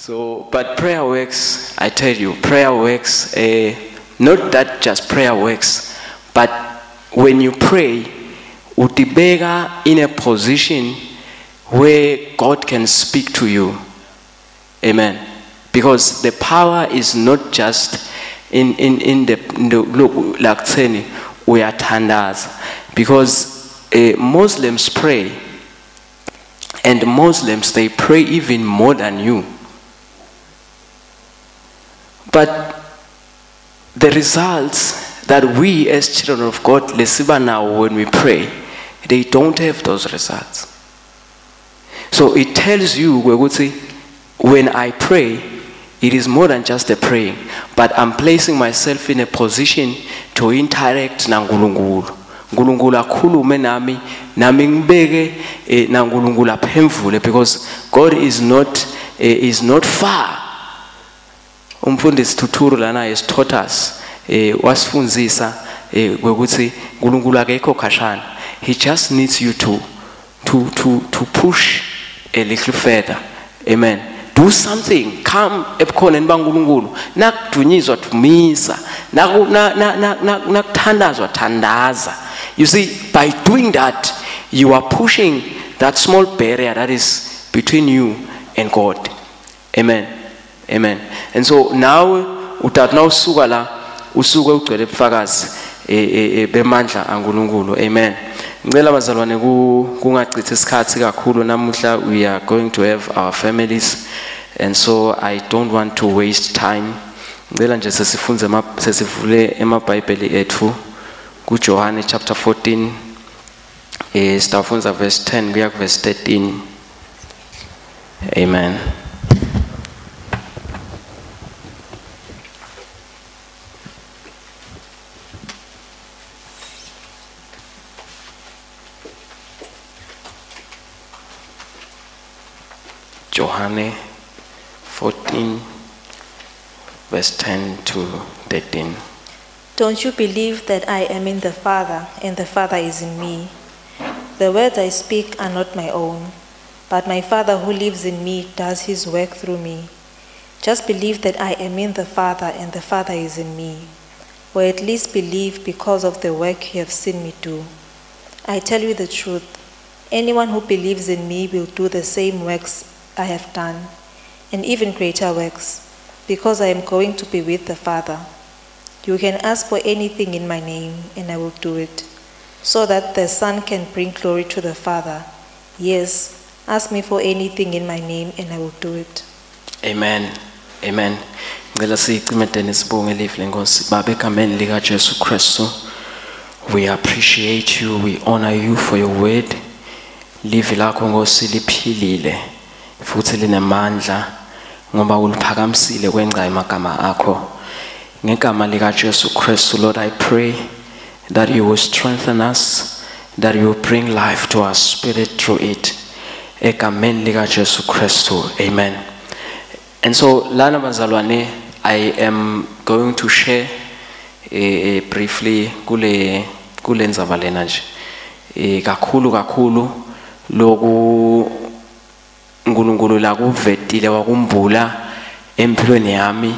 So, but prayer works, I tell you, prayer works. Not that just prayer works, but when you pray, utibeka in a position where God can speak to you. Amen. Because the power is not just in the look like uyathandaza. Because Muslims pray, and Muslims, they pray even more than you. But the results that we as children of God lesiba now when we pray, they don't have those results. So it tells you, when I pray, it is more than just a praying, but I'm placing myself in a position to interact na Nkulunkulu. Nkulunkulu akhulume nami, nami ngibeke na Nkulunkulu aphendvule, because God is not far. Umfundisi Thuthuru lana has taught us, wasifundzisa ukuthi Nkulunkulu akekho khashana. He just needs you to push a little further. Amen. Do something. Come ebukhoneni baNkulunkulu. Nakudunyiswa dumisa. Nakuthandazwa thandaza. You see, by doing that, you are pushing that small barrier that is between you and God. Amen. Amen. And so now utathi nawusuka la usuke ugcwele ubufakazi bemandla aNkulunkulu. Amen. Ngicela bazalwane kungachithi isikhathi kakhulu namuhla. We are going to have our families, and so I don't want to waste time. Ngicela nje sesifunze sesivule emaBhayibheli ethu kuJohane chapter 14, sitafundza verse 10 kuya ku verse 13. Amen. Johane 14, verse 10 to 13. Don't you believe that I am in the Father, and the Father is in me? The words I speak are not my own, but my Father who lives in me does his work through me. Just believe that I am in the Father, and the Father is in me. Or at least believe because of the work you have seen me do. I tell you the truth, anyone who believes in me will do the same works I have done, and even greater works, because I am going to be with the Father. You can ask for anything in my name, and I will do it, so that the Son can bring glory to the Father. Yes, ask me for anything in my name, and I will do it. Amen. Amen. Ngicela sicimedene sibonge live lenkosi. Baba egameni lika Jesu Kristu, we appreciate you, we honor you for your word. Live lakho Nkosi liphilile futhi linemandla, ngoba uliphakamisile kwenca emagama akho. Ngegama lika Jesu Kristu, Lord, I pray that you will strengthen us, that you will bring life to our spirit through it. Egameni lika Jesu Kristu, amen. And so, lana bazalwane, I am going to share briefly kule ndzaba lena nje. Kakhulu kakhulu loku uNkulunkulu lakuvetile wakumbula empilweni yami,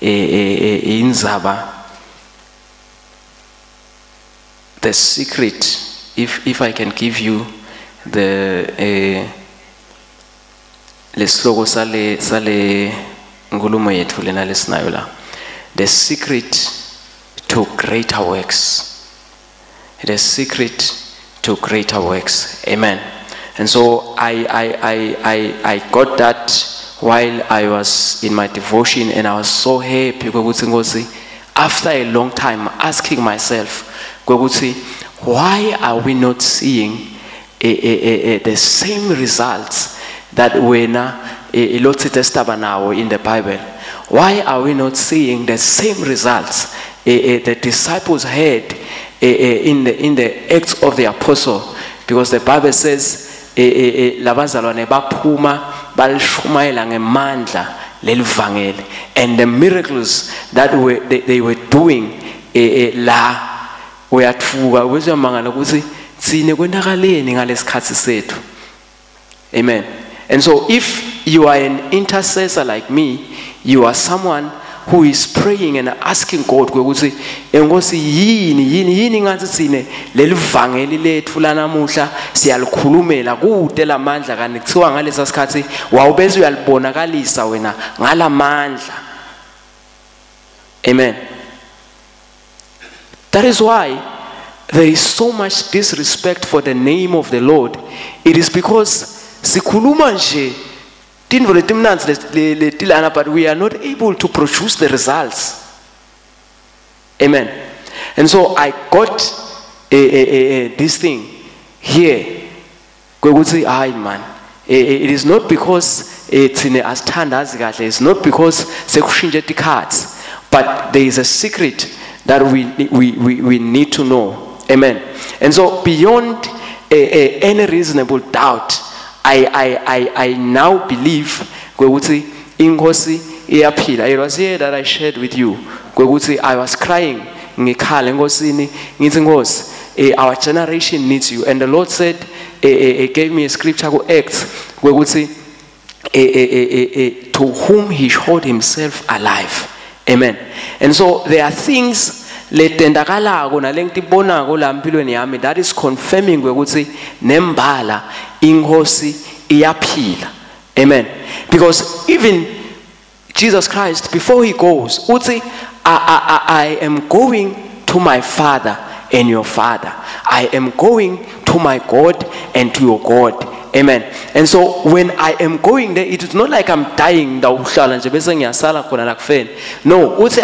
indzaba, the secret, if I can give you the lesihloko sale nkulumo yethu lena lesinayo la, the secret to greater works. The secret to greater works. Amen. And so I got that while I was in my devotion, and I was so happy after a long time asking myself, why are we not seeing the same results that when in the Bible? Why are we not seeing the same results the disciples had in the Acts of the Apostle? Because the Bible says, labazalwane baphuma balishumayela ngemandla lelivangeli, and the miracles that they were doing la uyathuka uyamangala ukuthi sine kwenakaleni ngalesikhathi sethu. Amen. And so if you are an intercessor like me, you are someone who is praying and asking God ukuthi enkosi yini yini yini ngathi sine lelivangeli lethu lanamuhla siyalikhulumela kude lamandla kanti kuthiwa ngalesa sikhathi wawubese uyalibonakalisa wena ngalamandla. Amen. That is why there is so much disrespect for the name of the Lord. It is because sikhuluma nje tintfo letimnandzi letilana, but we are not able to produce the results. Amen. And so I got this thing here. Kwekuthi hayi man, it is not because thine asithandazi kahle, it's not because sekushintshe tikhatsi, but there is a secret that we need to know. Amen. And so beyond any reasonable doubt, I now believe kwekuthi inkosi iyaphila. It was here that I shared with you kwekuthi I was crying ngikhala enkosini ngithi Nkosi, our generation needs you. And the Lord said, gave me a scripture ku Acts kwekuthi to whom he showed himself alive. Amen. And so there are things letendakalako nalengitibonako la empilweni yami that is confirming kwekuthi nembala inkosi iyaphila. Amen. Because even Jesus Christ, before he goes, uthi I am going to my Father and your Father. I am going to my God and to your God. Amen. And so when I am going there, it is not like I'm dying. No, uthi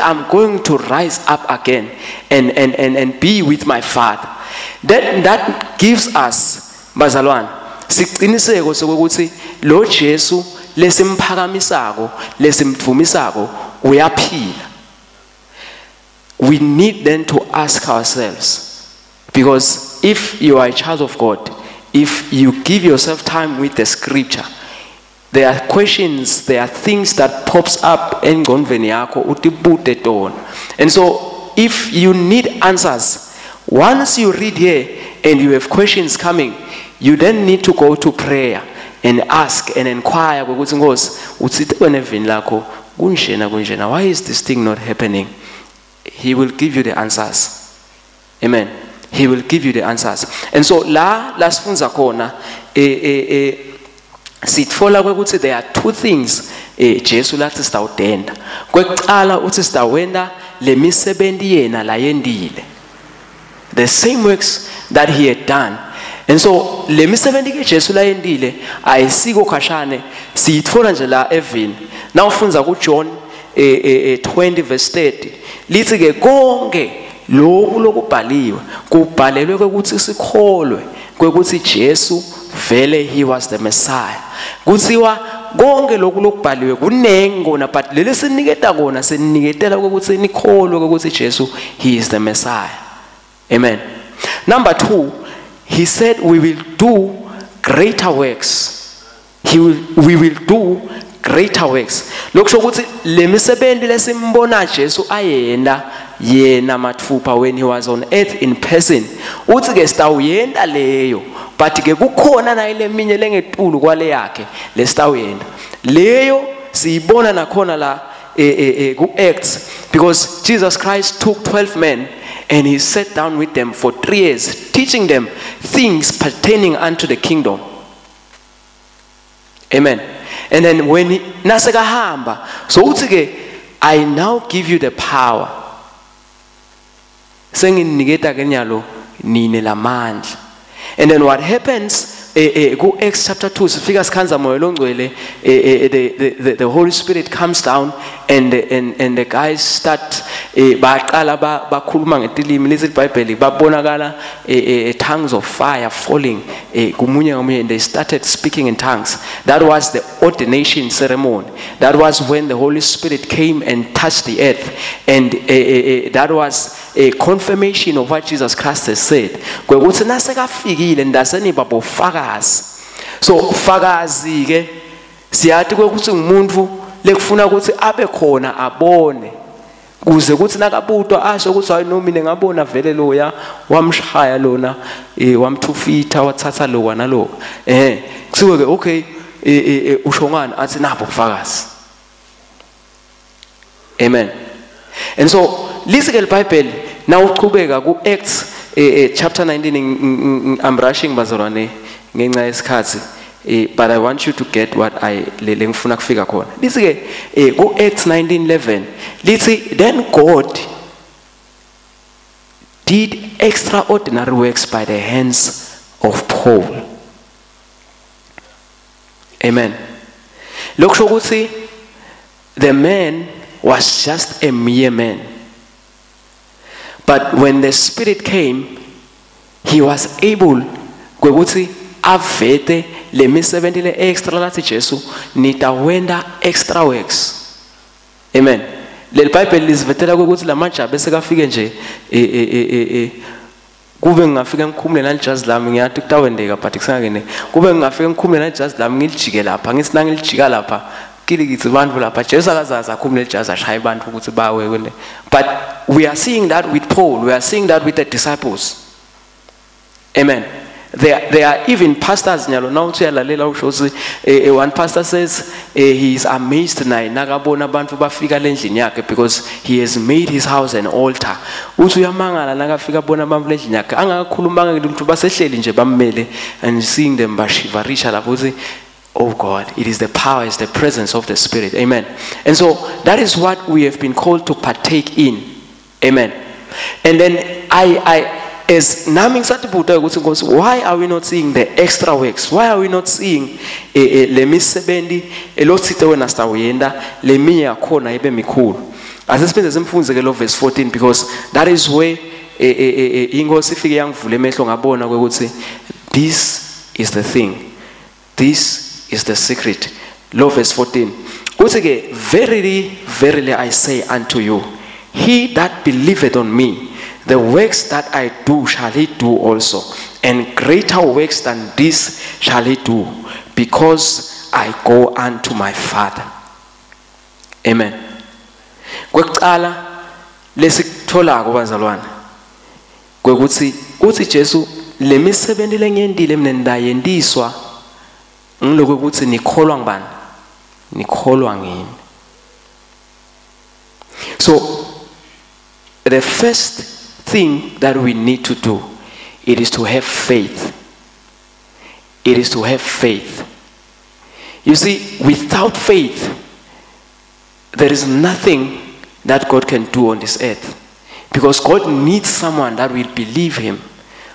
I'm going to rise up again and be with my Father. That gives us, bazalwane, siqiniseko sokuthi lo Jesu lesimphakamisako lesimdvumisako uyaphila. We need then to ask ourselves, because if you are a child of God, if you give yourself time with the scripture, there are questions, there are things that pops up engqondweni yakho utibute tona. And so if you need answers, once you read here and you have questions coming, you then need to go to prayer and ask and inquire ukuthi Nkosi uthite wena evini lakho kunjena kunjena, why is this thing not happening? He will give you the answers. Amen. He will give you the answers. And so la lasifunza khona sitfola kwekuthi there are two things Jesu lathi sitawudenda. Kwekuqala uthi sitawenda lemisebenti yena layendile. The same works that he had done. And so lemisebenti ke Jesu layendile ayisiko khashane, siyitfola nje la evini. Nawufundza ku John 20 verse 30 lithi ke konke lokhu lokubhaliwe kubhalelwe ukuthi sikholwe kwekuthi Jesu vele he was the Messiah. Kuthiwa konke lokhu lokubhaliwe kunengi kona, but leli siniketa kona siniketela ukuthi nikholwe ukuthi Jesu he is the Messiah. Amen. Number 2, he said we will do greater works. We will do greater works. Lokusho ukuthi lemisebenti lesimbona Jesu ayenda yena mathupha when he was on earth in person, uthi ke sitawuyenda leyo, but ke kukhona naye leminye lengetulu kwale yakhe lesitawuyenda leyo. Siyibona nakhona la ku Acts, because Jesus Christ took 12 men and he sat down with them for 3 years teaching them things pertaining unto the kingdom. Amen. And then when he nasekahamba, so uthi ke I now give you the power, senginiketa ke nyalo nine lamandla. And then what happens ku Acts chapter 2 sifika sikhanza moya longcwele, the Holy Spirit comes down and the guys start baqala bakhuluma ngetilimi lesi iBhayibheli, babonakala tongues of fire falling kumunye ngamunye, and they started speaking in tongues. That was the ordination ceremony. That was when the Holy Spirit came and touched the earth, and that was a confirmation of what Jesus Christ has said. Kwekuthi nasekafikile ndaseniba bofakazi. So fakazi ke siyathi kwekuthi ngumuntu lekufuna ukuthi abe khona abone, kuze kuthi nakabutwa asho ukuthi hayi no mina ngabona vele loya wamshaya lona, wamthufitha wathatha lo nalo, kusiwe ke okay Usho ngani? Athi nabo ubufakazi. Amen. And so lisi ke iBhayibheli nawuchubeka ku Acts chapter 19. I'm rushing, bazalwane, ngenxa yesikhathi, but I want you to get what I le ngifuna kufika khona. Lithi ke ku Acts 19:11 lithi, "Then God did extraordinary works by the hands of Paul." Amen. Lokusho ukuthi the man was just a mere man, but when the Spirit came, he was able kwekuthi avete lemisebenzi le extra lathi Jesu nitawenda extra works. Amen. Leli Bible lisivetela ukuthi lamajabu esekafike nje kube ngingafika ngikhumule nalijazi lami, ngiyathi kutawendeka, but kusangene kube ngingafika ngikhumule nalijazi lami ngilijike lapha, ngithi nangilijika lapha kilikithi bantu lapha. Jesu akazazi akhumule lijazi ashaye abantu ukuthi bawe kwele. But we are seeing that with Paul, we are seeing that with the disciples. Amen. There are even pastors nyalo nawuthi uyalalela usho ukuthi one pastor says he is amazed naye nakabona abantu bafika lendlini yakhe because he has made his house an altar. Uthi uyamangala nakafika bona abantu lendlini yakhe angakakhulumanga ke umuntu basehleli nje bammele, and seeing them bashivarisha lapho uthi, "Oh God," it is the power, it's the presence of the Spirit. Amen. And so that is what we have been called to partake in. Amen. And then I as nami ngisatibuta ukuthi Nkosi, why are we not seeing the extra works? Why are we not seeing le misebenzi elothite wena sitawuyenda leminye yakhona ibe mikhulu? Asesiphinde simfunze ke lo verse 14, because that is where inkosi ifike yangivula emehlo ngabona ukuthi this is the thing, this is the secret. Lo verse 14 uthi ke, "Verily, verily, I say unto you, he that believeth on me, the works that I do shall he do also, and greater works than this shall he do, because I go unto my Father." Amen. Kwekuqala lesikutholako bazalwane kwekuthi uthi Jesu lemisebenzi lengiyendile mina ndayendiswa ngiloko ukuthi nikholwa ngibani, nikholwa ngimi. So the first thing that we need to do, it is to have faith. It is to have faith. You see, without faith, there is nothing that God can do on this earth. Because God needs someone that will believe him.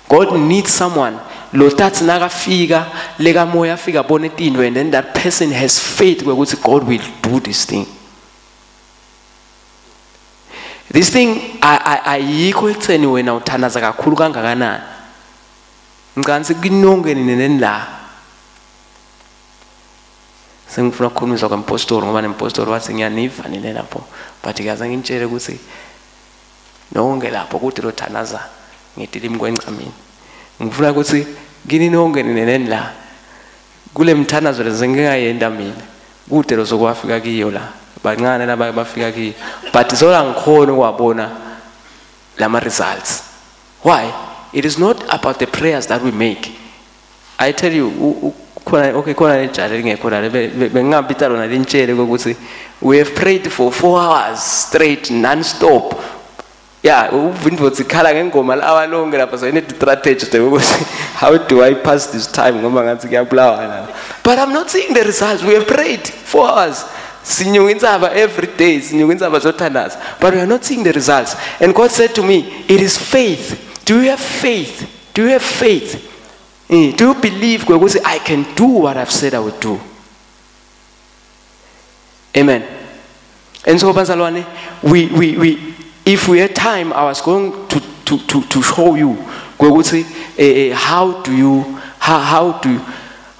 God needs someone lotathi nakafika lekamoya afika abone tinto, and then that person has faith ukuthi God will do this thing. This thing ayikho ekutheni wena uthandaza kakhulu kangakanani. Ngicabanga kinonke nini la. Sengifuna ukukhulumiswa kwempostoli ngoba nempostoli wathi ngiyaniva nini lapho, but kaze ngintshele ukuthi nonke lapho kude lothandaza ngetilimi kwencamini. Ngifuna ukuthi kini nonke nini la kule mthandazo lezengingayenda mina kude lozokwafika kiyo la. Bancane laba bafika kiyo, but sola ngikhona ukwabona lama results. Why? It is not about the prayers that we make. I tell you, khona okay khona lejali lingekho la bengingabita lona lintshele ukuthi we have prayed for 4 hours straight non-stop. Yeah, uvindvo ikhala ngengoma lawa lonke lapha, so I need strategy ukuthi how do I pass this time ngoba ngathi kuyabulawa la. But I'm not seeing the results. We have prayed 4 hours. Sinyuka intsaba every day, sinyuka intsaba zothandaza, but we are not seeing the results. And God said to me, it is faith. Do you have faith? Do you have faith? Do you believe ukuthi I can do what I've said I would do? Amen. And so bazalwane, we if we had time, I was going to show you ukuthi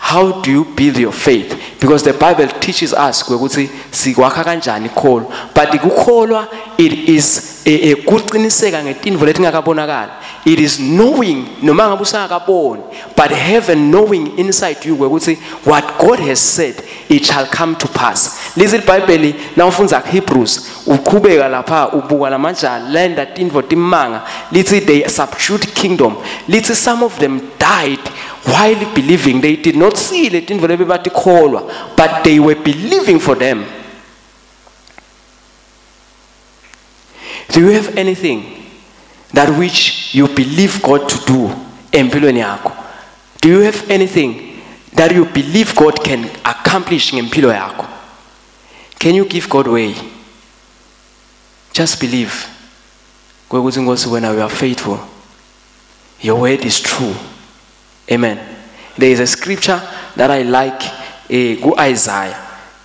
how do you build your faith? Because the Bible teaches us ukuthi sikwakha kanjani ikholo. But ukukholwa, it is kuqiniseka ngetinto letingakabonakala. It is knowing noma ngabe usangakaboni, but have a knowing inside you ukuthi what God has said, it shall come to pass. Lezi iBhayibheli nawufundza Hebrews uqhubeka lapha ubuka lamajali lenda tinto timanga lithi they subdued kingdom. Lithi some of them died while believing. They did not see letintfo lebebatikholwa, but they were believing for them. Do you have anything that which you believe God to do empilweni yakho? Do you have anything that you believe God can accomplish ngempilo yakho? Can you give God way? Just believe. Kwekuthi Nkosi wena you are faithful. Your word is true. Amen. There is a scripture that I like, Isaiah.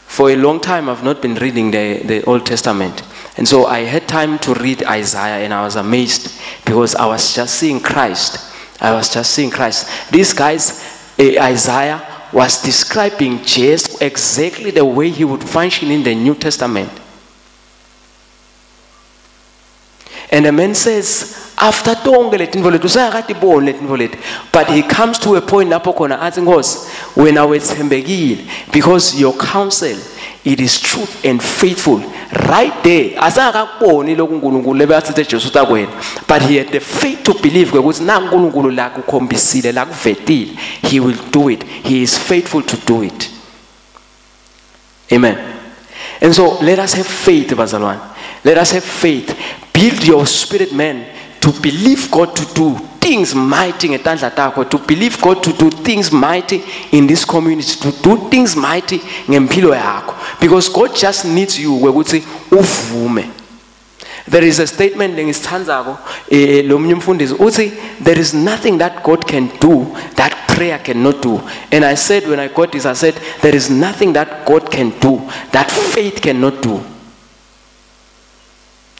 For a long time I've not been reading the Old Testament. And so I had time to read Isaiah, and I was amazed because I was just seeing Christ. I was just seeing Christ. These guys, Isaiah was describing Jesus exactly the way he would function in the New Testament. And the man says, after tonke letintfo leti, usengakatiboni letintfo leti, but he comes to a point lapho khona athi, Nkosi, wena wetsembekile, because your counsel, it is truth and faithful. Right there, asengakakuboni lokhu uNkulunkulu lebeyatsitse Jesu utakwena, but he had the faith to believe ukuthi na uNkulunkulu lakukhombisile, lakuvetile, he will do it. He is faithful to do it. Amen. And so let us have faith, bazalwane. Let us have faith. Build your spirit man to believe God to do things mighty ngetandla takho, to believe God to do things mighty in this community, to do things mighty ngempilo yakho. Because God just needs you ukuthi uvume. There is a statement lengisithandzako, lo munye umfundisi uthi there is nothing that God can do that prayer cannot do. And I said when I got this, I said there is nothing that God can do that faith cannot do.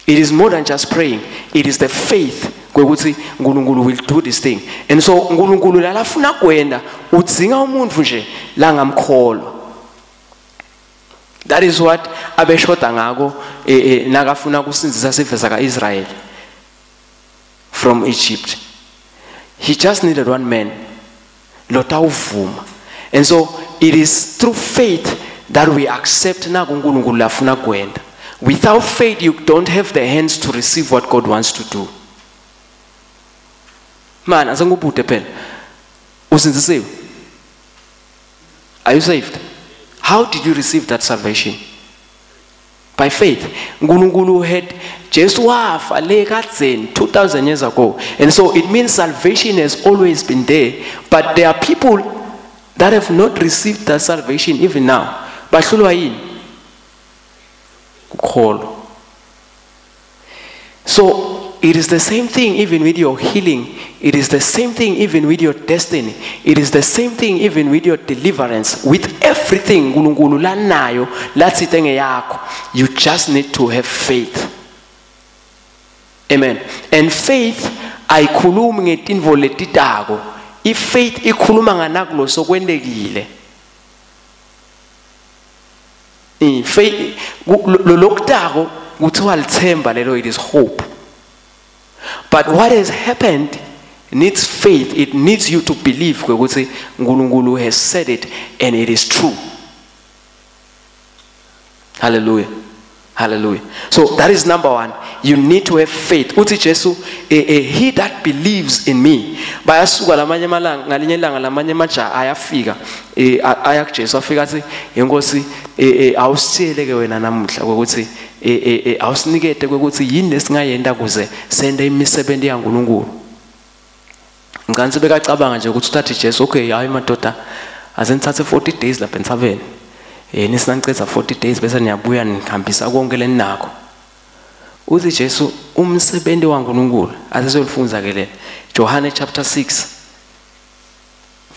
It is more than just praying. It is the faith kwekuthi uNkulunkulu will do this thing. And so uNkulunkulu lalafuna kwenda udzinga umuntu nje langamkholwa. That is what abeshoda ngako nakafuna kusindzisa sive saka-Israel from Egypt. He just needed one man lotawuvuma. And so it is through faith that we accept naku uNkulunkulu lafuna kwenda. Without faith, you don't have the hands to receive what God wants to do. Man, asengubhude phela. Usindzisiwe? Are you saved? How did you receive that salvation? By faith. Nkulunkulu had Jesu wafa le kadzeni 2000 years ago. And so it means salvation has always been there. But there are people that have not received that salvation even now. Bahlulwa yini? Kukholwa. So it is the same thing even with your healing. It is the same thing even with your destiny. It is the same thing even with your deliverance. With everything uNkulunkulu lanayo latsite ngeyakho, you just need to have faith. Amen. And faith ayikhulumi ngetintfo letitako. I-faith ikhuluma nganakulo sokwentekile. Faith lokutako kuthiwa lithemba lelo, it is hope. But what has happened needs faith. It needs you to believe ukuthi uNkulunkulu has said it and it is true. Hallelujah. Hallelujah. So that is number one. You need to have faith. Uthi Jesu, he that believes in me. Bayasuka lamanye amalanga, ngalinye ilanga lamanye amajaha ayafika, aya kuJesu afika athi, Inkosi, awusitshele ke wena namuhla ukuthi, awusinikete ukuthi yini lesingayenda kuze sende imisebenzi yaNkulunkulu. Ngicabanga bekacabanga nje ukuthi uthathe Jesu, okay, hayi madoda, asenithathe 40 days lapha entsabeni. Nisinacetha 40 days bese niyabuya nihambisa konke leninakho. Uthi Jesu umsebenzi waNkulunkulu asesolifunza ke le. John chapter 6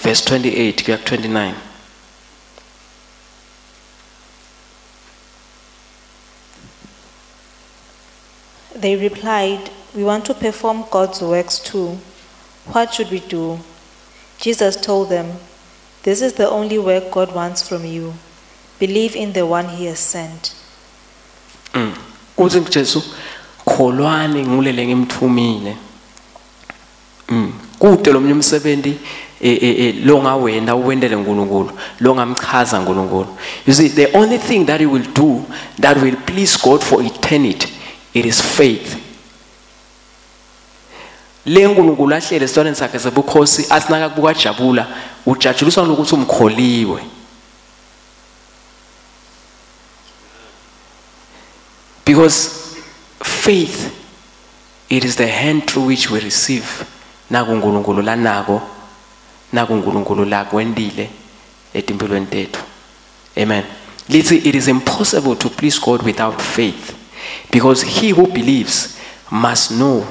verse 28 kuya 29. They replied, We want to perform God's works too. What should we do? Jesus told them, This is the only work God wants from you. Believe in the one he has sent. Uthi Jesu, kholwani ngulele ngimthumile. Kude lo mnye umsebenzi longawenda uwendele uNkulunkulu, longamchaza uNkulunkulu. You see, the only thing that you will do that will please God for eternity, it is faith. Le uNkulunkulu ahlele esitwaneni sakhe sebukhosi asinaka kubuka jabula ujabuliswa lokuthi umkholiwe. Because faith, it is the hand through which we receive nakuNkulunkulu lanako nakuNkulunkulu lakwendile etimpilweni tethu. Amen. Lithi it is impossible to please God without faith, because he who believes must know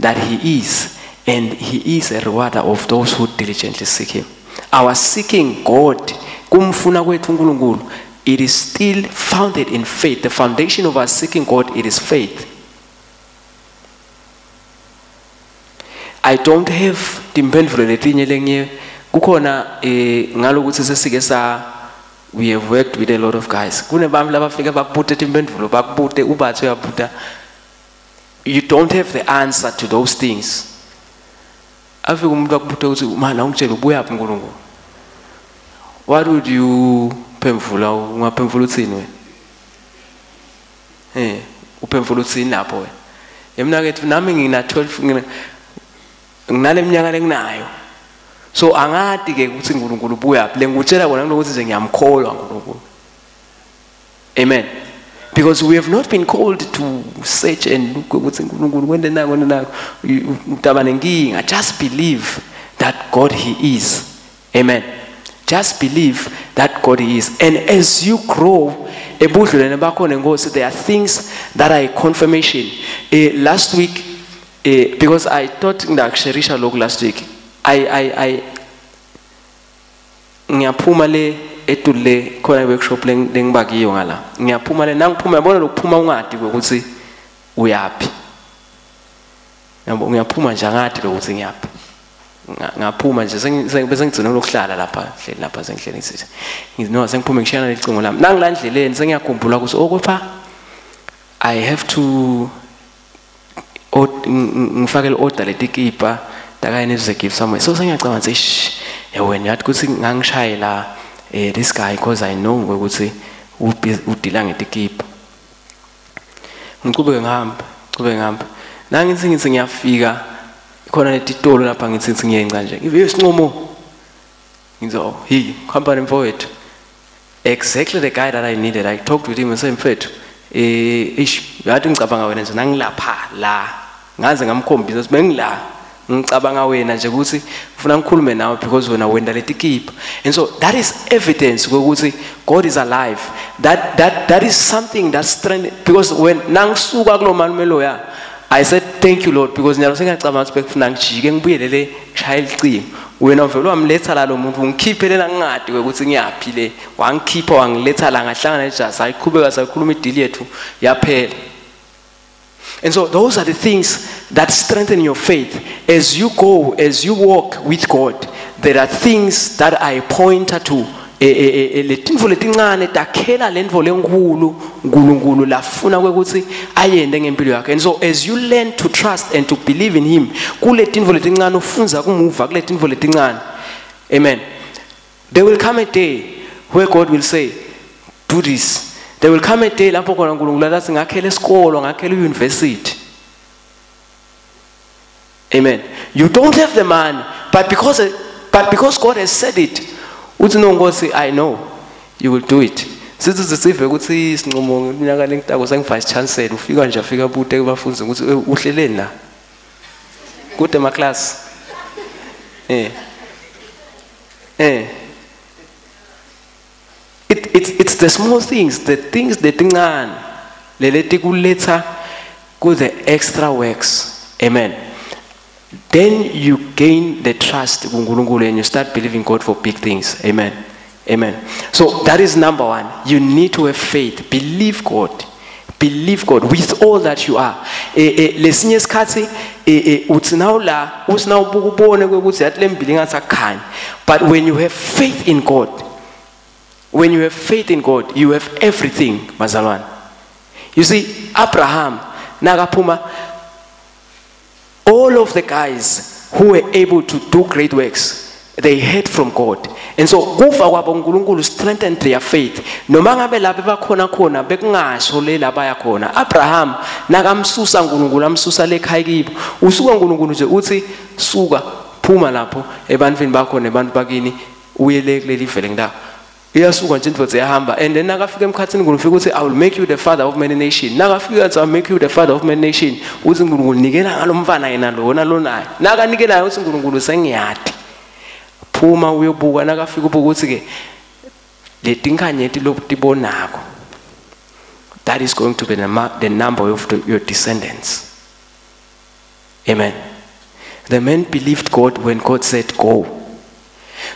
that he is, and he is a rewarder of those who diligently seek him. Our seeking God, kumfuna kwethu uNkulunkulu, it is still founded in faith. The foundation of our seeking God, it is faith. I don't have timphendvulo letinye lengiye kukhona ngalokuthi sesike sa we have worked with a lot of guys. Kunebantu labafika bakubute timphendvulo bakubute ubathe uyabuta. You don't have the answer to those things. Afika umuntu akubute ukuthi mana ungitshela ubuyaphi uNkulunkulu. What would you phemvula? Ungaphemvula uthini wena? Uphemvula uthini lapho wena? Mina kethu nami ngina 12 nginale minyaka lenginayo. So angati ke ukuthi uNkulunkulu ubuyaphi. Lengikutshela kona ukuthi nje ngiyamkholwa uNkulunkulu. Amen. Because we have not been called to search and look ukuthi uNkulunkulu kwente nako nako utaba nenkinga. Just believe that God he is. Amen. Just believe that God he is. And as you grow ebudlelweni bakho nenkosi, there are things that are a confirmation. Last week, because I thought ngiyakusherisha lokhu last week, I ngiyaphuma le etule khona workshop lengibakiyo ngala. Ngiyaphuma le nangiphuma yabona lokuphuma ungadi ukuthi uyapi. Yabo ngiyaphuma nje angadi lokuthi ngiyapi. Ngaphuma nje bese ngigcina lokuhlala lapha hleli lapha sengihleli ngithi no sengiphume ngishiyana lecingo lami. Nangila ndleleni sengiyakhumbula ukuthi okupha I have to ngifake le order letikipa takayene ze give somewhere. So sengiyacabanga ngithi wena yathi ukuthi ngangishayela this guy because I know ukuthi udila ngetikipa. Ngiqhubeke ngihamba. Nangithi ngithi ngiyafika khona letitolo lapha ngithi ngiyenca nje. Ngive isinqumo. Ngithi oh hey company mfowethu. Exactly the guy that I needed. I talked with him and said mfethu ish yathi ngicabanga wena nje nangilapha la. Ngaze ngamkhombisa ukuthi bengila. Ngicabanga wena nje ukuthi ufuna ngikhulume nawe because wena wenda letikipa. And so that is evidence ukuthi God is alive. That is something that's strength, because when nangisuka kulo malume loya I said thank you Lord, because nyalo sengiyacabanga ukuthi bekufuna ngijike ngibuyelele ngishaya icingo. Wena uvele wamletha la lo muntu ungikhiphe lena ngingadi ukuthi ngiyapi le. Wangikhipha wangiletha la ngahlangana nejazi ayiqhubeka sakhuluma ideal yethu yaphela. And so those are the things that strengthen your faith. As you go, as you walk with God, there are things that I point to. Letinfo letincane takhela lentfo lenkulu uNkulunkulu lafuna kwekuthi ayende ngempilo yakhe. And so as you learn to trust and to believe in him, kuletinfo letincane ufunza kumuva kuletinfo letincane. Amen. There will come a day where God will say, do this. There will come a day lapho khona uNkulunkulu athi ngakhele isikolo, ngakhele university. Amen. You don't have the money, but because God has said it, uthi no Nkosi, I know you will do it. Sithi sive ukuthi isinqumo ngeminyaka lengitako sengi vice chancellor ufika nje afika bude kubafundi ukuthi uhleleni la. Kude ma class. It's the small things, the things letincane leleti kuletha ku the extra works. Amen. Then you gain the trust kuNkulunkulu and you start believing God for big things. Amen. Amen. So that is number one. You need to have faith. Believe God. Believe God with all that you are. Lesinye isikhathi uthi nawu la uthi nawubuka ubone ukuthi yathi lembili ngathi akukhanya. But when you have faith in God, when you have faith in God, you have everything, bazalwane. You see, Abraham, nakaphuma, all of the guys who were able to do great works, They heard from God. And so kufa kwabo uNkulunkulu strengthened their faith. Noma ngabe lapho bakhona khona bekungasho le labaya khona. Abraham nakamsusa uNkulunkulu amsusa lekhaya kibo. Usuka uNkulunkulu nje uthi suka phuma lapho ebantwini bakho nebantu bakini uye le kuleli vele ngida. Iyasuka nje indvodza iyahamba and then nakafika emkhathini uNkulunkulu ufika uthi I will make you the father of many nations. Nakafika athi I will make you the father of many nations. Uthi uNkulunkulu nikela ngalomfana yena lona lonayo. Nakanikelayo uthi uNkulunkulu sengiyati. Phuma uyobuka nakafika ubuka uthi ke letinkanyeti lobutibonako that is going to be the number of your descendants. Amen. The man believed God when God said go.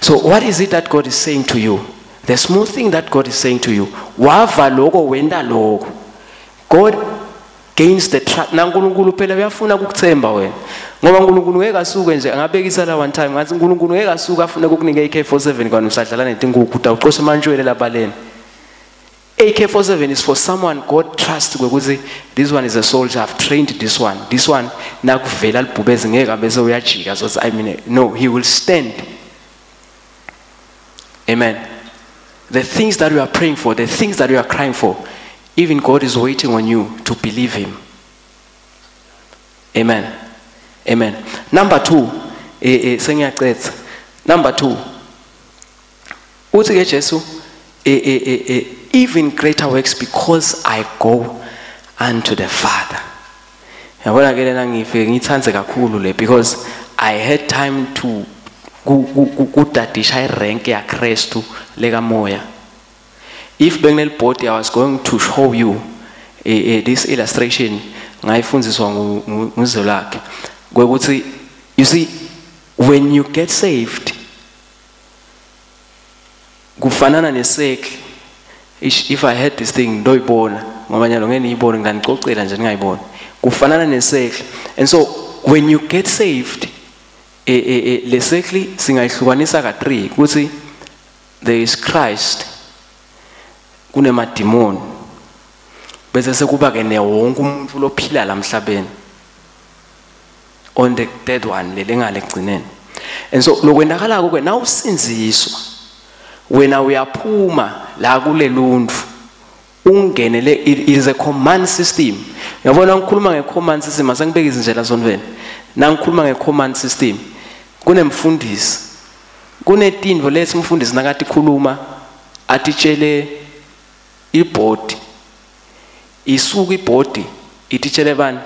So what is it that God is saying to you? The small thing that God is saying to you, wava loko wenda loko. God gains the trust. Na uNkulunkulu phela uyafuna ukukuthemba wena. Ngoba uNkulunkulu ngeke asuke nje angabekisa la one time ngathi uNkulunkulu ngeke asuke afune ukukunika AK47 kwani usadlala netinkukhu utawucosha amantshwele labaleni. AK47 is for someone God trusts ukuthi this one is a soldier, I've trained this one. This one nakuvela libhubezi ngeke bese uyajika so I mean no, he will stand. Amen. The things that you are praying for, the things that you are crying for, even God is waiting on you to believe him. Amen. Amen. Number 2, sengiyacetha. Number 2. Uthi ke Jesu, even greater works because I go unto the Father. Yabona ke lena ngifike ngithandze kakhulu le because I had time to kudadisha irank ya Kristu lekamoya. If benginelibhodi I was going to show you this illustration ngayifundziswa nguzolakhe kwekuthi you see when you get saved kufanana nesekli. If I had this thing ndoyibona ngoba nyalo ngeke niyibone ngiyanicocela nje ningayiboni. Kufanana nesekli. And so when you get saved le sekli singayihlukanisa ka 3 ukuthi there is Christ, kunemadimoni, bese sekuba ke ne wonke umuntu lophila la emhlabeni on the third one lelengale egcineni. And so lokwenzakalako ke nawusinziswa wena uyaphuma la kuleluntu ungenele. It is a command system. Uyabona ngikhuluma ngecommand system asengibeka izindlela zonveni. Nangikhuluma ngecommand system kunemfundisi kunetindvo lethi umfundisi nakathi khuluma atitshele ibhodi, isuka ibhodi ititshele bani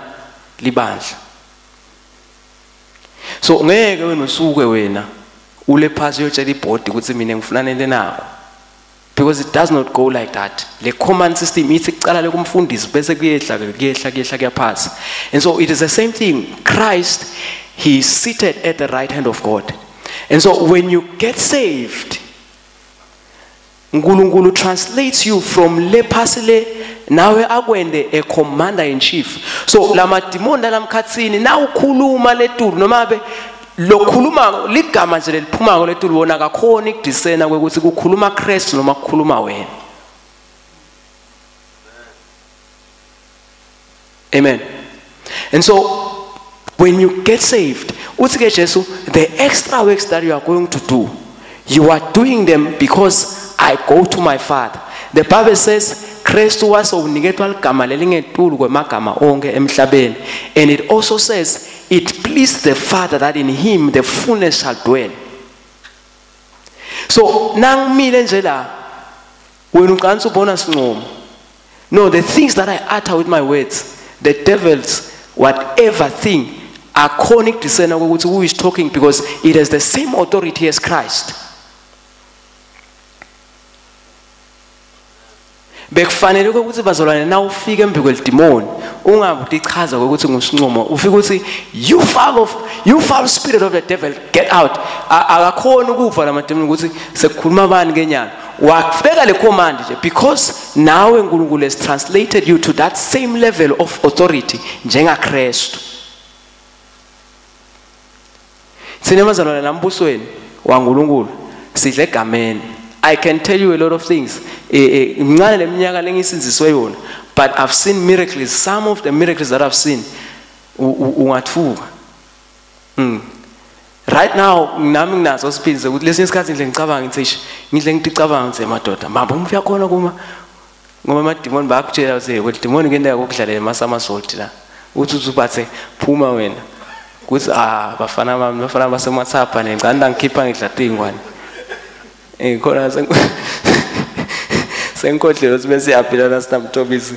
libandla. So ngeke wena usuke wena ule phasi uyotshela ibhodi ukuthi mina ngifuna nento nako, because it does not go like that. Le command system ithi kucala lekumfundisi bese kuyehla kuyehla kuyehla kuyaphasa. And so it is the same thing. Christ, he is seated at the right hand of God. And so when you get saved, uNkulunkulu translates you from le phasi le nawe akwende a commander in chief. So lamadimoni lamkhathini nawukhuluma letulu noma be lokhuluma ligama nje leliphuma letulu wona akakhona ikudisena kwekuthi kukhuluma Christ noma kukhuluma wena. Amen. And so when you get saved, uthi ke Jesu, the extra works that you are going to do, you are doing them because I go to my Father. The Bible says Christ was uniketwa ligama lelingetulu kwemagama onke emhlabeni. And it also says it pleased the Father that in him the fullness shall dwell. So nangimile nje la wena uqansa ubona sincomo. No, the things that I utter with my words, the devils, whatever thing, akhona ukudiscern ukuthi who is talking, because it has the same authority as Christ. Bekufanele ukuthi bazalwane na ufike embi kwelidimoni ungabe utichaza ukuthi ngusincomo, ufike ukuthi you foul spirit of the devil, get out. Akakhona ukuva lamadimoni ukuthi sekukhuluma bani kenyana. Wafika le command nje because nawe uNkulunkulu has translated you to that same level of authority njengaKristu. Sine bazalwane nambusweni waNkulunkulu sidle egameni. I can tell you a lot of things. Mncane leminyaka lengisinziswe yona, but I've seen miracles. Some of the miracles that I've seen, ungathuka. Right now nami nginaso siphinze ukuthi lesinye isikhathi nje ngicabanga ngithi ngidle ngicabanga ngithi madoda mama umfika khona kuma ngoba amadimoni bayakutshela ukuthi ukuthi demoni kuyenteka kokudlalela emasamasoti la uthi ubathe phuma wena kuthi bafana bami bafana basemathapha nengicanda ngikhipha ngidla tingwane khona senkodlelo sibe siyaphila la sinamthobisi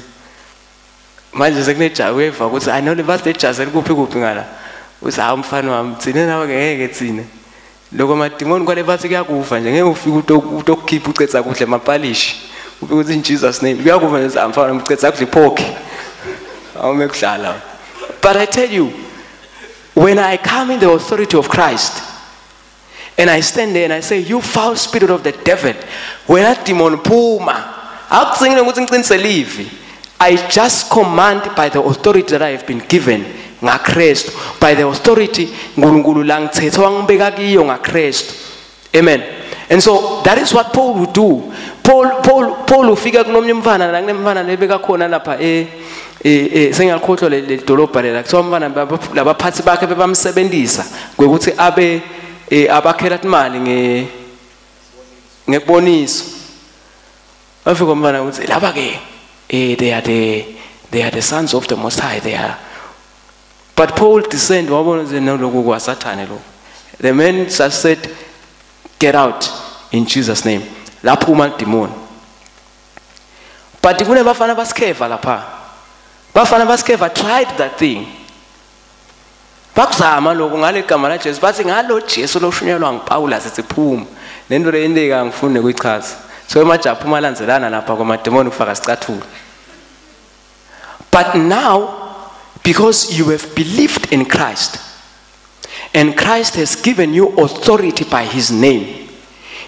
manje sekunejazi uyeva ukuthi I know le jazi elikuphi kuphi ngala uthi hawu mfana wami thina nawe ngeke thina lokho amadimoni kwale bathi kuyakufa nje ngeke ufike utokukhipha ucetha kuhle amapalishi ufike uthi in Jesus name kuyakufa nje mfana wami ucetha kuhle iphokhi awume kudlala. But I tell you, when I come in the authority of Christ and I stand there and I say, you foul spirit of the devil, when that demon phuma akucingile ukuthi ngiqinise livi, I just command by the authority that I have been given ngaKristu, by the authority uNkulunkulu la ngithethe wangibeka kiyo ngaKristu. Amen. And so that is what Paul would do. Paul ufika kunomnye umfana la kunemfana lebeka khona lapha sengiyakhohlwa le dolobha lela kuthiwa umfana labaphathi bakhe bebamsebenzisa ngokuthi abe abakhela imali ngekuboniso. Afika umfana uthi laba ke they are the sons of the Most High, they are. But Paul descend wabona nje noloku kwaSathane lo. The man just said, get out in Jesus name. Laphuma demon. But kunebafana basikheva lapha. Bafana basikheva tried that thing. Bakuzama lokho ngale gama la Jesu bathi ngalo Jesu loshunyelwa nguPaulus sithi phuma. Lento le indeka ngifune ukuyichaza. So emajabu malandzelana lapha kwamademoni kufaka sicathulo. But now, because you have believed in Christ, and Christ has given you authority by his name,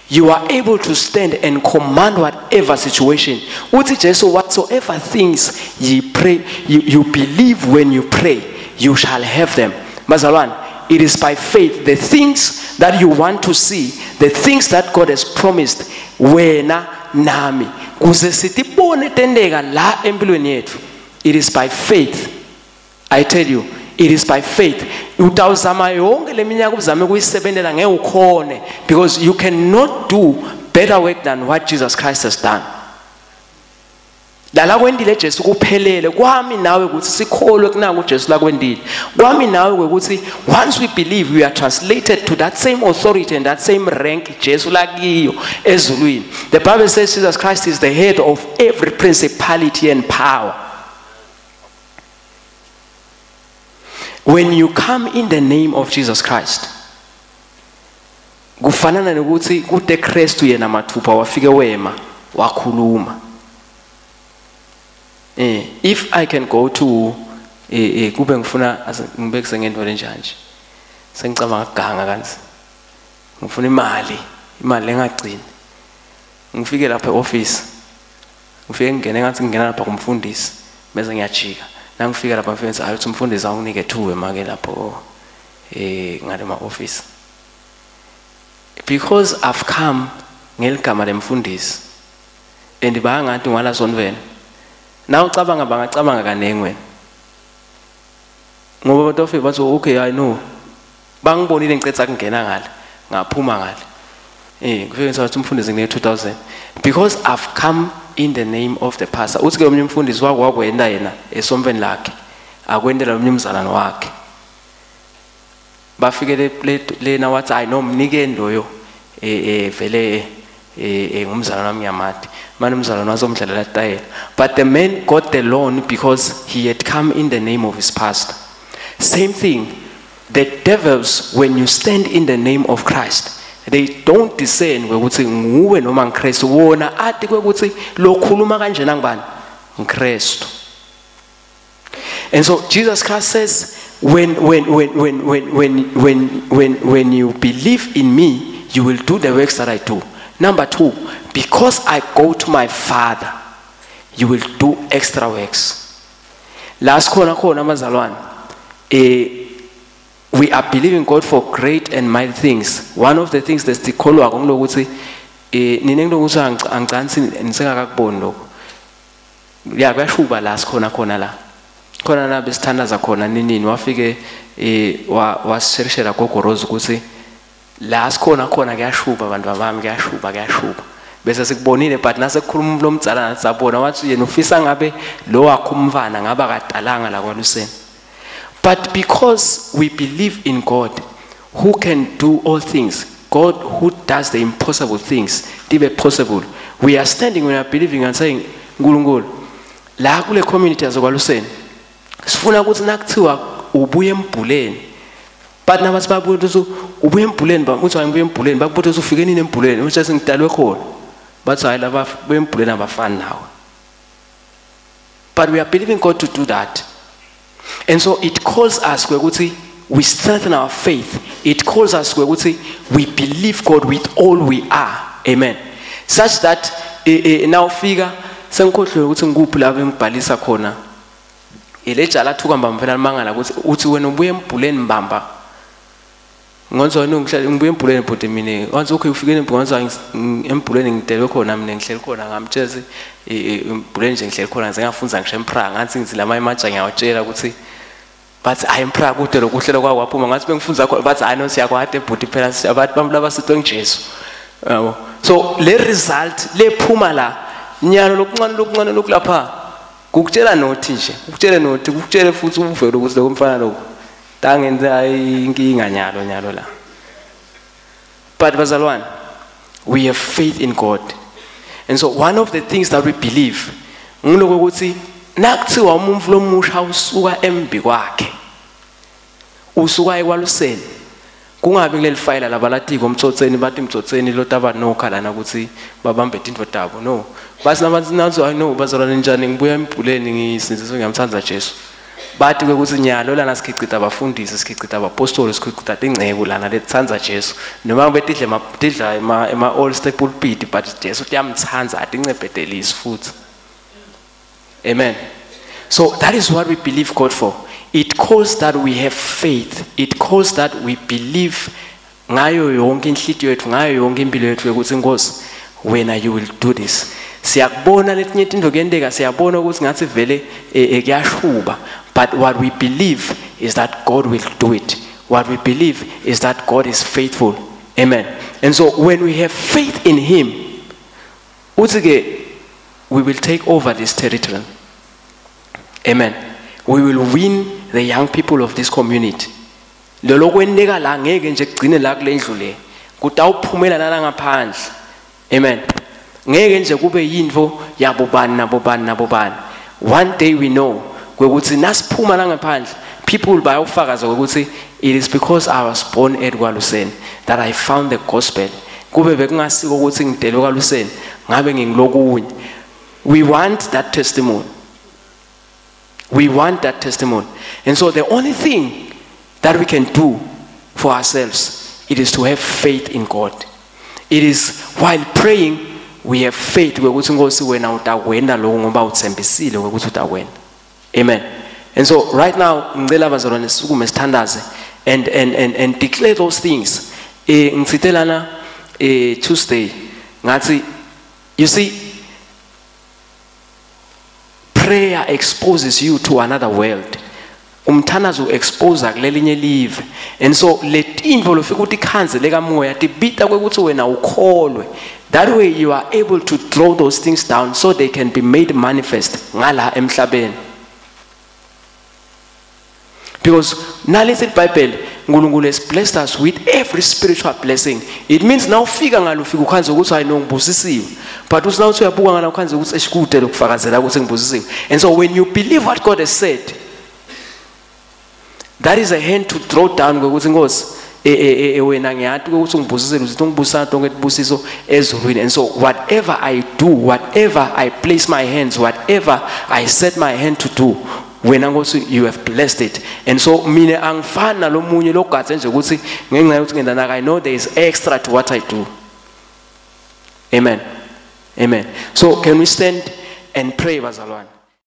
you are able to stand and command whatever situation. Uthi Jesu, whatsoever things ye pray, you believe when you pray, you shall have them. Bazalwane, it is by faith. The things that you want to see, the things that God has promised, wena nami, kuze sitibone tendeka la empilweni yethu. It is by faith. I tell you, it is by faith. Utawuzama yonke leminyaka uzame kuyisebenzela ngeke ukhone, because you cannot do better work than what Jesus Christ has done. Lala kwendile Jesu kuphelele kwami nawe ukuthi sikholwe kunaka uJesu la kwendile. Kwami nawe ukuthi once we believe, we are translated to that same authority and that same rank Jesu la kiyo ezulwini. The Bible says Jesus Christ is the head of every principality and power. When you come in the name of Jesus Christ, kufanana nokuthi kude Kristu yena mathupha wafike wema wakhuluma. If I can go to kube ngifuna ngibekise ngento lenjani nje. Sengicabanga ukuganga kanzi. Ngifuna imali engagcini. Ngifike lapha eoffice. Ngifike ngene ngathi ngingena lapha kumfundisi bese ngiyajika. Nangifika lapha mfundisi ayothi umfundisi awunike 2 emake lapho ngale ma office. Because I've come ngeligama lemfundisi and bayangathi ngwala sonvena. Na ucabanga bangacabanga kanengi wena. Ngoba abantu bafike bathi okay I know. Bangibonile ngicetha kungena ngale ngaphuma ngale. Kufike ngithi umfundisi ngine 2000 because I've come in the name of the pastor. Uthi ke omnye umfundisi wakwenda yena esomveni lakhe akwendela omnye umzalwane wakhe. Bafike lena wathi hayi no mnikeni loyo vele ngumzalwane wami ngiyamati. Manje umzalwane wazomdlalela tayela. But the man got the loan because he had come in the name of his pastor. Same thing, the devils, when you stand in the name of Christ, they don't discern ukuthi nguwe noma ngiKristu. Wona athi ukuthi lokhuluma kanjena ngibani? NgiKristu. And so Jesus Christ says, when you believe in me, you will do the works that I do. Number 2, because I go to my Father, you will do extra works. Last khona khona mazalwane, we are believing God for great and mighty things. One of the things that's sikholwa ngokuthi nine ngilokuthi angicansi nisengakakuboni lokho. Ya kuyashuba la sikhona khona la. Khona la besithandaza khona ninini wafike washerishela gogo Rose ukuthi La sikhona khona kuyashuba abantu bami, kuyashuba, kuyashuba. Bese sikubonile, but nasekukhuluma lo mdzala nathi sabona wathi yena ufisa ngabe lo wakho umfana ngabe akadalanga la kwaluseni. But because we believe in God who can do all things, God who does the impossible things tibe possible, we are standing, we are believing and saying, Nkulunkulu, la kule community yazokwaluseni sifuna ukuthi nakuthiwa ubuye embhuleni, but nabathi babuye ukuthi ubuye embhuleni, uthi ngibuye embhuleni, bakubuza ukuthi ufike nini embhuleni, uthi sengidalwe khona, bathi hayi laba buye embhuleni abafani nawe. But we are believing God to do that. And so it calls us ukuthi we strengthen our faith. It calls us ukuthi we believe God with all we are. Amen. Such that now fika sengikhohlwe ukuthi ngikuphi la bengibhalisa khona. Elejala thuka mbamba phela mangala ukuthi uthi wena ubuye embhuleni mbamba. Ngonzo wena ngihlale ngibuye embhuleni bhuti mina. Wanzi okay ufike embhuleni embhuleni ngidelwe khona mina ngihleli khona ngamtshezi embhuleni nje ngihleli khona ngize ngafunza ngisho eMprague ngathi ngithi lama imaja ngiyawatshela ukuthi bathi hayi eMprague kude lokuhlela kwawo waphuma ngathi bengifunza khona bathi hayi no siyakwade bhuti phela abantu bami laba sitwe ngiJesu. Yabo. So le result lephuma la nyalo lokuncane lokuncane lokulapha kukutshela nothi nje ukutshele nothi ukutshele futhi uvele ukuthi lokumfana lokho tangenza inkinga nyalo nyalo la. But bazalwane, we have faith in God. And so one of the things that we believe ngiloko ukuthi nakuthiwa umuntu lomusha usuka embi kwakhe usuka ekwaluseni kungabi kuleli file labalatiko umtsotseni bathi umtsotseni lotaba nokha lana ukuthi babambe tintfo tabo. No, bathi nabathi nazo no bazalwane njani ngibuya embhuleni ngisinziswe ngiyamthanda Jesu. Bathi ke ukuthi nyalo lana sikhicita abafundisi sikhicita abapostoli sikhicita tingceku lana letsandza Jesu noma betidle tidla ema all step pulpit but Jesu uyamtsandza atincebedelisi futhi. Amen. So that is what we believe God for. It calls that we have faith. It calls that we believe ngayo yonke inhlitiyo yethu ngayo yonke impilo yethu ukuthi Nkosi wena you will do this. Siyakubona letinye tintfo kuyenteka, siyabona ukuthi ngathi vele kuyashuba, but what we believe is that God will do it. What we believe is that God is faithful. Amen. And so when we have faith in him, uthi ke we will take over this territory. Amen. We will win the young people of this community. Lolo kwenteka la ngeke nje kugcine la kule ndlu le. Kutawuphumela nala ngaphandle. Amen. Ngeke nje kube yintfo yabobani nabobani nabobani. One day we know kwekuthi nasiphuma la ngaphandle people bayawufakaza ukuthi it is because I was born at Kwaluseni that I found the gospel. Kube bekungasiko ukuthi ngidelwe kwaluseni ngabe ngingilokunye. We want that testimony. We want that testimony. And so the only thing that we can do for ourselves, it is to have faith in God. It is while praying, we have faith. Ukuthi Nkosi wena utakwenda lokho ngoba uthembisile ukuthi utakwenda. Amen. And so right now, ngicela bazalwane sisukume sithandaze and declare those things. Ngitsite lana Tuesday ngathi, you see, prayer exposes you to another world. Umthandazo expose kulelinye live. And so letintfo lofika ukuthi ikhanze lekamoya tibita kwekuthi wena ukholwe. That way you are able to draw those things down so they can be made manifest ngala emhlabeni. Because nalesi iBhayibheli uNkulunkulu has blessed us with every spiritual blessing. It means now ufika ngalo ufika ukhanze ukuthi hayi no ngibusisiwe. But uthi now uyabuka ngala ukhanze ukuthi eshikude lokufakazela ukuthi ngibusisiwe. And so when you believe what God has said, that is a hand to draw down ukuthi Nkosi wena ngiyati ukuthi ungibusisile uthi ungibusisa tonke tibusiso ezulwini. And so whatever I do, whatever I place my hands, whatever I set my hand to do, wena Nkosi you have blessed it. And so mina angifani nalomunye logadze nje ukuthi ngenxa yokuthi ngenda I know there is extra to what I do. Amen. Amen. So can we stand and pray bazalwane?